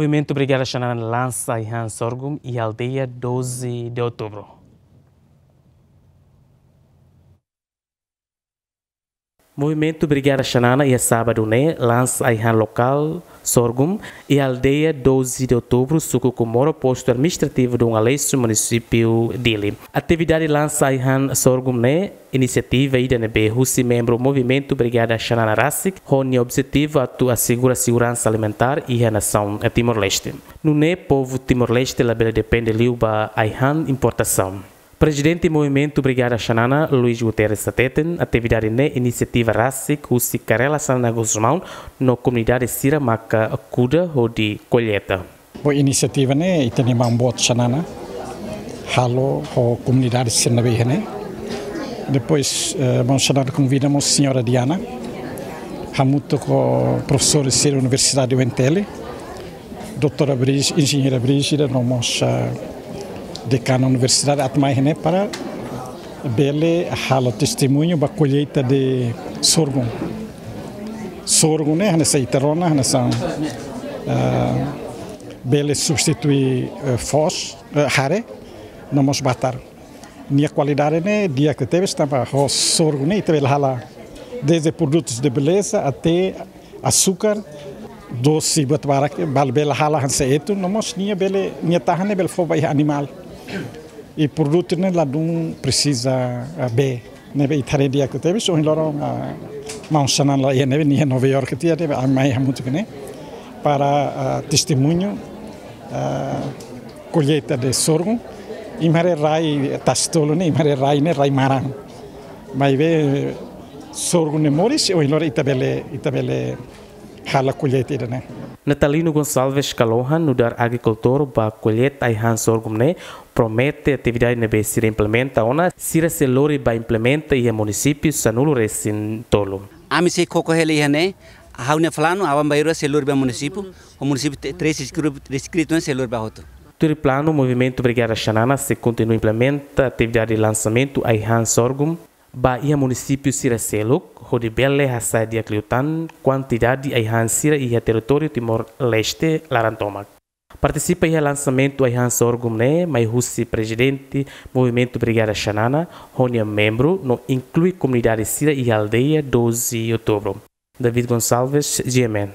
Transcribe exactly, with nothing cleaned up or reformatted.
Movimentu Brigada Xanana lansa ai-han sorgum iha aldeia doze de Outubro. Movimentu Brigada Xanana iha sábadu ne'e lansa ai-han lokál sorgum iha aldeia doze de Outubro, suku Comoro, postu administrativu Dom Aleixo, munisípiu Dili. Atividade lansa ai-han sorgum ne'e inisiativa ida ne'ebé husi membru Movimentu Brigada Xanana rasik, ho nia objetivu atu asegura seguransa alimentár iha nasaun Timor-Leste. Nune'e povu Timor-Leste labele depende liu ba ai-han importasaun. Prezidente Movimentu Brigada Xanana, Luis Guterres hateten, atividade ne'e inisiativa rasik husi Karela Xanana Gusmão no komunidade sira maka kuda hodi kolleita. Bo inisiativa ne'e ita-nia maun boot Xanana halo ho komunidade sira ne'ebé iha ne'e. Depois, eh, maun Xanana konvida mós señora Diana, hamutuk ho profesór sira Universidade U N T L, doutora Brígida, enjeñeira Brígida, no mós, eh, dekana universidade atu mai iha ne'e para bele halo testemuñu ba kolleita de sorgum. Sorgum ne'e hanesan ita rona, hanesan, eh, bele substitui, eh, foos, eh, hare, no mós batar. Nia kualidade ne'e di'ak tebes tanba ho sorgum ne'e ita bele halo desde produtus de beleza até asúkar, dose buat barak, bal bele halo hanesan etu, no mós nia bele, nia tahan ne'e bele fó ba iha animál. I produtu ne'e ladún presiza, ah, bee. Ne'ebé ita haree di'ak tebes, ohin loron, ah, maun Xanana la iha ne'ebé, nia Nova York tiha ne'ebé, ami mai hamutuk ne'e para, ah, testemuñu, ah, kolleita de sorgum. Imi haree rai tasi-tolu ne'e, imi haree rai ne'e, rai maran. Maibé sorgum ne'e moris, ohin loron ita bele, ita bele halo kolleita ida-ne'e. Natalino Gonçalves Kalohan, nu'udar agrikultór ba kolleita ai-han sorgum ne'e, promete atividade ne'ebé sira implementa ona, sira sei lori ba implementa iha munisípiu sanulu-resin-tolu. Ami sei koko hela iha ne'e, ha'u-nia planu, aban-bainrua sei lori ba munisípiu, ho munisípiu te-, treze distritu, distritu ne'e sei lori ba hotu. Tuir planu, Movimentu Brigada Xanana sei kontinua implementa atividade lansamentu ai-han sorgum ba iha munisípiu sira seluk, hodi bele hasa'e di'ak liután kuantidade ai-han sira iha territóriu Timor-Leste laran tomak. Partisipa iha lansamentu ai-han sorgum ne'e mai husi prezidente Movimentu Brigada Xanana, ho nia membru, no inklui komunidade sira iha aldeia doze Outubro. David Gonçalves, G M N.